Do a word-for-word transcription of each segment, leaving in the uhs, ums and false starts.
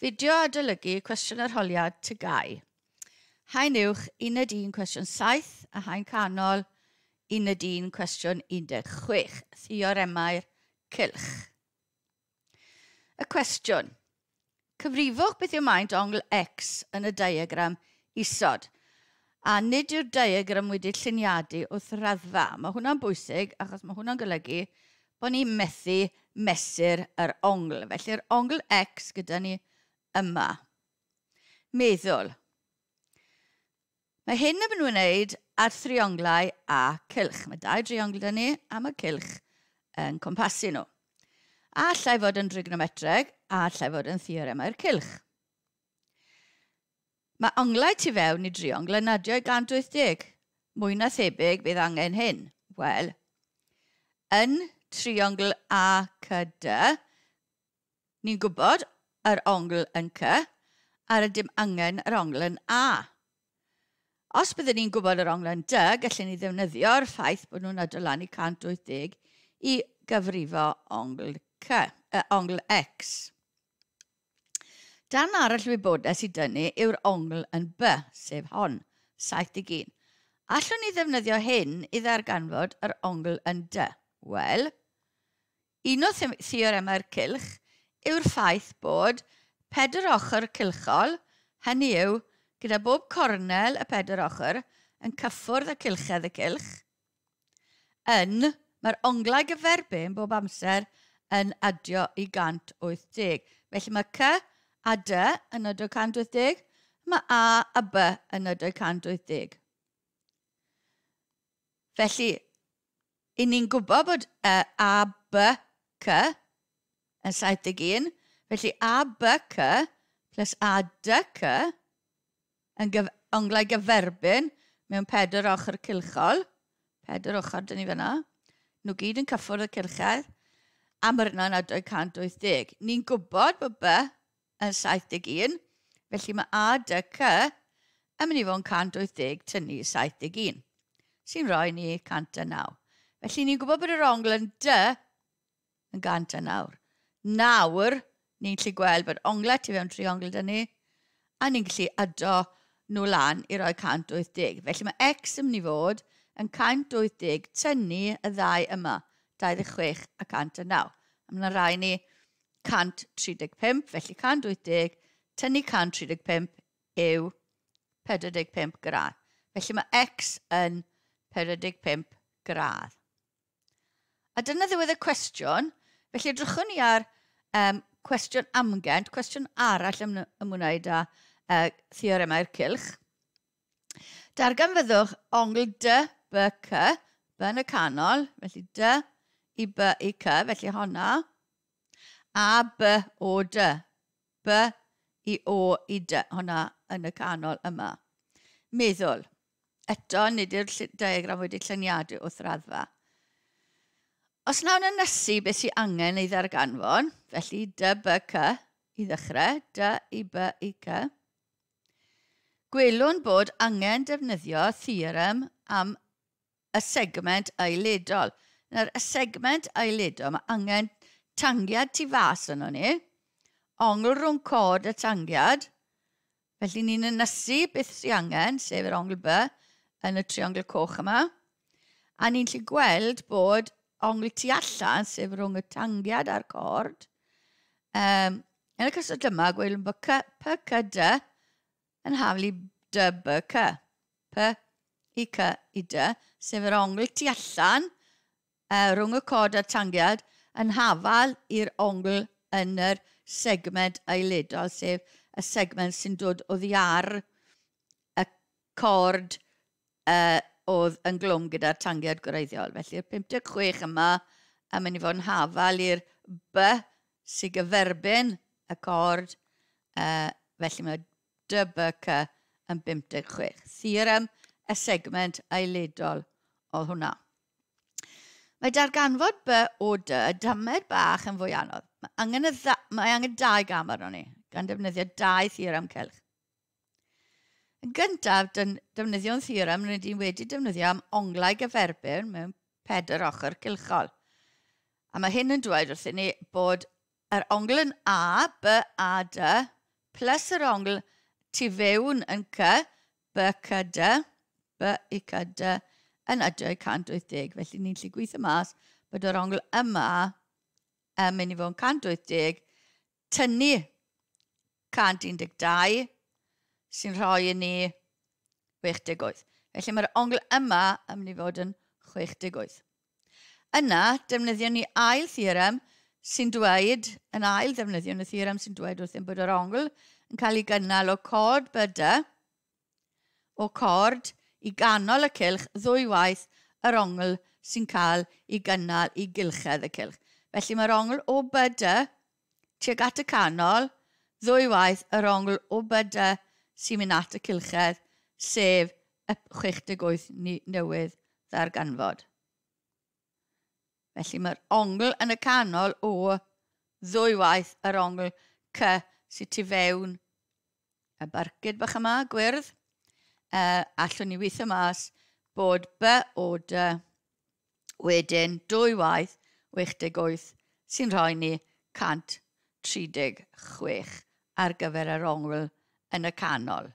Fideo adolygu cwestiwn arholiad T G A U. Haen uwch uned un cwestiwn saith a haen canol uned un cwestiwn un deg chwech. Theoremau'r cylch. Y cwestiwn. Cyfrifwch beth yw maint ongl X yn y diagram isod. A nid yw'r diagram wedi lluniadu wrth raddfa. Mae hwnna'n bwysig achos mae hwnna'n golygu bod ni'n methu mesur yr ongl. Felly'r ongl X gyda ni yma. Meddwl. Mae hyn yn wneud ar thrionglau a cylch. Mae dau driongl 'da ni a mae cylch yn cwmpasu nhw. A allai fod yn trigonometreg, a allai fod yn theoremau'r cylch. Mae onglau tu fewn i driongl yn adio i gant wyth deg. Mwy na thebyg bydd angen hyn. Wel, yn triongl A C D, ni'n gwybod yr ongl yn C, a rydym angen yr ongl yn A. Os byddwn ni'n gwybod yr ongl yn D, gallwn ni ddefnyddio'r ffaith bod nhw'n adio lan i cant wyth deg i gyfrifo ongl C, uh, ongl X. Darn arall wybodaeth i dynnu yw'r ongl yn B, sef hon, saith deg un. Allwn ni ddefnyddio hyn i ddarganfod yr ongl yn D? Wel, un o theoremau'r cylch yw'r ffaith bod pedwar ochr cylchol, hynny yw, gyda bob cornel y pedwar ochr yn cyffwrdd y cylchedd y cylch, yn, mae'r onglau gyferbyn bob amser yn adio i gant wyth deg. Felly mae C a D yn adio cant wyth deg, mae A a B yn adio cant wyth deg. Felly, i ni'n gwybod bod uh, A B C yn saith deg un, felly A B C plus A D C yn gyf onglau gyferbyn mewn pedwar ochr cylchol, pedwar ochr dyn ni fyna, nhw gyd yn cyffwrdd y cylchedd, a mae'r yna'n adio cant wyth deg. Ni'n gwybod bod B yn saith deg un, felly mae A D C yn mynd i fod yn cant wyth deg tynnu saith deg un, sy'n rhoi ni cant a naw. Felly ni'n gwybod bod yr ongl yn D yn gant a nawr. Nawr, ni'n gallu gweld bod onglau tu fewn triongl dyn ni, a ni'n gallu ado nhw lan i roi cant wyth deg. Felly mae X yn mynd i fod yn cant wyth deg tynnu y ddau yma, dau ddeg chwech a cant a naw. A mae'n rhai ni cant tri deg pump, felly cant wyth deg tynnu cant tri deg pump yw pedwar deg pump gradd. Felly mae X yn pedwar deg pump gradd. A dyna ddiwedd y cwestiwn. Felly edrychwn ni ar um, cwestiwn amgen, cwestiwn arall ym, ymwneud â uh, theoremau'r cylch. Darganfyddwch ongl D B C, B yn y canol, felly D i B i C, felly honna, A B O D, B i O i D, honna yn y canol yma. Meddwl, eto nid yw'r diagram wedi lluniadu wrth raddfa. Os nawn ynysu beth sy'n angen ei ddarganfod, felly D B C i ddechrau, D i B i C, gwelwn bod angen defnyddio theorem am y segment aeledol. Nawr, y segment aeledol, mae angen tangiad tu fas yno ni, ongl rhwng cod a tangiad, felly ni'n ynysu beth sy'n angen, sef yr ongl B yn y triongl coch yma, a ni'n gallu gweld bod ongl tu allan, sef rhwng y tangiad a'r cord. Um, yn y cyswllt yma, gwelwn bod C, P C D yn haflu D B C. P i C i D, sef yr ongl tu allan uh, rhwng y cod a'r tangiad yn hafal i'r ongl yn yr segment aeledol, sef y segment sy'n dod oddi ar y cord uh, oedd yn glwm gyda'r tangiad gwreiddiol. Felly'r pump deg chwech yma yn mynd i fod yn hafal i'r B sy'n gyferbyn y cord, uh, felly mae D B C yn bump deg chwech. Theorem y segment aeledol oedd hwnna. Mae darganfod B o D y damed bach yn fwy anodd. Mae angen, y dda, mae angen dau gam arno ni, gan defnyddio dau theorem cylch. Yn gyntaf, defnyddio'n theorem rydyn ni wedi defnyddio am onglau gyferbyn mewn pedwar ochr cylchol. A mae hyn yn dweud wrthyn ni bod yr ongl yn A, B, A, D, plus yr ongl tu fewn yn C, B C D, B i C D, yn adio i cant wyth deg. Felly ni'n gallu gweithio mas bod yr ongl yma yn mynd i fod yn cant wyth deg, tynnu cant un deg dau, sy'n rhoi i ni chwech deg wyth. Felly mae'r ongl yma yn mynd i fod yn chwech deg wyth. Yna, defnyddion ni ail theorem sy'n dweud, yn ail ddefnyddion y theorem sy'n dweud wrthym bod yr ongl yn cael ei gynnal o cord B D, o cord i ganol y cylch ddwywaith yr ongl sy'n cael ei gynnal i gylchedd y cylch. Felly mae'r ongl o B D tuag at y canol, ddwywaith yr ongl o B D sy'n mynd at y cylchedd, sef y chwech deg wyth newydd ddarganfod. Felly mae'r ongl yn y canol o ddwywaith yr ongl C sydd tu fewn y barcud bach yma, gwyrdd. Uh, allwn ni weithio mas bod B O D wedyn dwywaith chwech deg wyth sy'n rhoi ni cant tri deg chwech ar gyfer yr ongl yn y canol.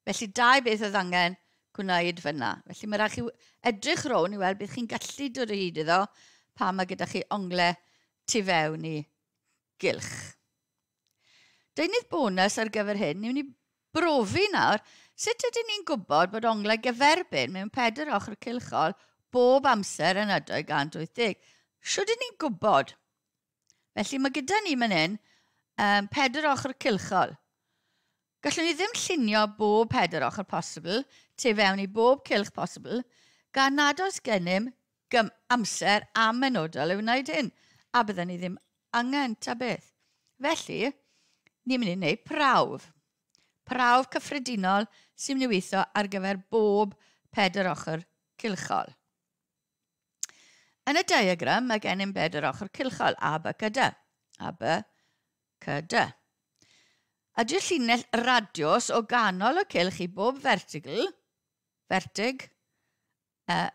Felly dau beth oedd angen gwneud fyna. Felly mae rhaid chi edrych rownd i weld beth chi'n gallu dod o hyd iddo pan mae gyda chi onglau tu fewn i gylch. Deunydd bonus ar gyfer hyn, ni'n mynd i brofi nawr sut ydyn ni'n gwybod bod onglau gyferbyn mewn pedwar ochr cylchol bob amser yn adio i gant wyth deg. Shwt ydyn ni'n gwybod? Felly mae gyda ni fan hyn, um, pedwar ochr cylchol. Gallwn ni ddim llunio bob pedwar ochr posibl, tu fewn i bob cylch posibl, gan nad oes gennym gym-, amser amenodol i wneud hyn, a byddwn ni ddim angen ta beth. Felly, ni'n mynd i wneud prawf. Prawf cyffredinol sy'n mynd i weithio ar gyfer bob pedwar ochr cylchol. Yn y diagram, mae gennym bedwar ochr cylchol, A, B, C, D. A, B, C, D. Adio llinell radiws o ganol y cylch i bob vertigl, vertig, uh,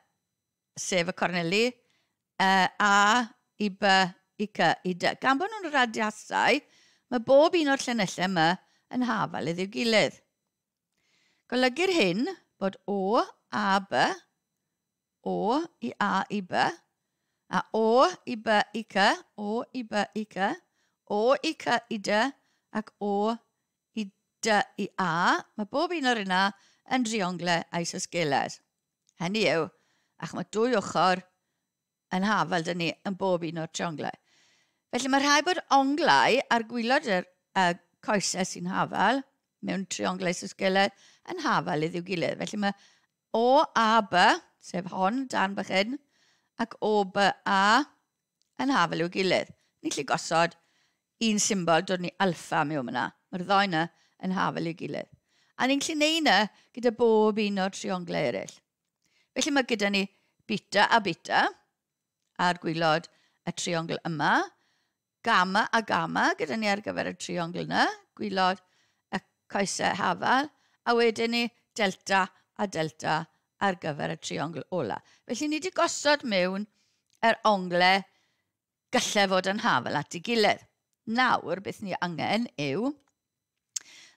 sef y corneli, uh, A i B i C i D. Gan bod nhw'n radiasau, mae bob un o'r llinellau yma yn hafal iddi'w gilydd. Golygu'r hyn bod O, A, B, O i A i B, a O i B i C, O i B i C, O i C i D, ac O i D i A. Mae bob un o'r yna yn drionglau isosgeles. Hynny yw, ac mae dwy ochr yn hafal dyn ni yn bob un o'r trionglau. Felly mae rhaid bod onglau ar gwaelod yr, y coesau sy'n hafal mewn trionglau isosgeles yn hafal iddi'w gilydd. Felly mae O A B, sef hon dan bach hyn, ac O B A yn hafal i'w gilydd. Ni'n gallu gosod un symbol, dod ni alfa mewn yna. Mae'r ddau yna yn hafal i'w gilydd. A ni'n gallu neud yna gyda bob un o'r trionglau eraill. Felly mae gyda ni beta a beta ar gwaelod y triongl yma, gamma a gamma gyda ni ar gyfer y triongl yna, gwaelod y coesau hafal, a wedyn ni delta a delta ar gyfer y triongl ola. Felly ni wedi gosod mewn yr onglau gallai fod yn hafal at ei gilydd. Nawr, beth ni angen yw,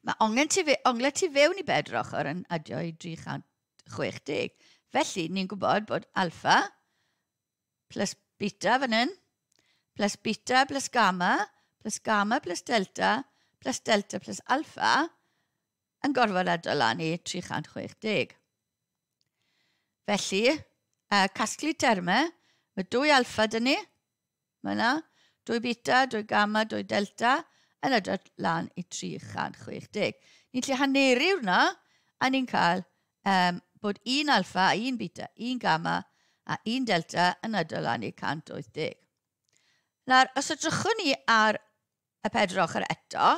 mae ongen tu fe-, onglau tu fewn i bedwar ochr yn adio i dri chant chwech deg. Felly, ni'n gwybod bod alfa plus beta fan hyn, plus beta plus gamma, plus gamma plus delta, plus delta plus alfa, yn gorfod adio lan i tri chant chwech deg. Felly, uh, casglu termau, mae dwy alfa dyn ni, mae yna, dwy beta, dwy gamma, dwy delta, yn adio lan i tri chant chwech deg. Ni'n gallu haneru hwnna, a ni'n cael, um, bod un alfa, un beta, un gamma a un delta yn adio lan i cant wyth deg. Nawr, os edrychwn ni ar y pedwar ochr eto,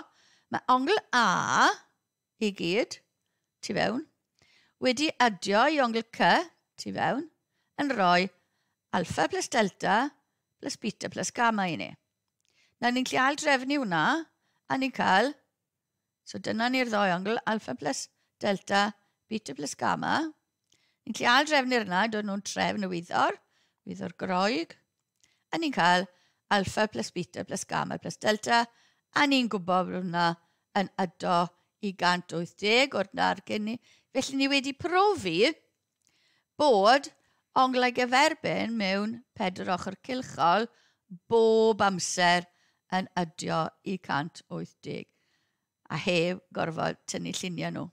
mae ongl A i gyd, tu fewn, wedi adio i ongl C, tu fewn, yn rhoi alfa plus delta plus beta plus gamma i ni. Nawr, ni'n gallu aildrefnu hwnna, a ni'n cael, so dyna ni'r ddou ongl, alfa plus delta, beta plus gamma. Ni'n gallu aildrefnu'r yna, dod nhw'n trefn y wyddor, wyddor Groeg, a ni'n cael alfa plus beta plus gamma plus delta, a ni'n gwybod bod hwnna yn ydo i gant wyth deg o'r dargen ni. Felly ni wedi profi bod onglau gyferbyn mewn pedwar ochr cylchol bob amser yn ydio i cant wyth deg a heb gorfod tynnu lluniau nhw.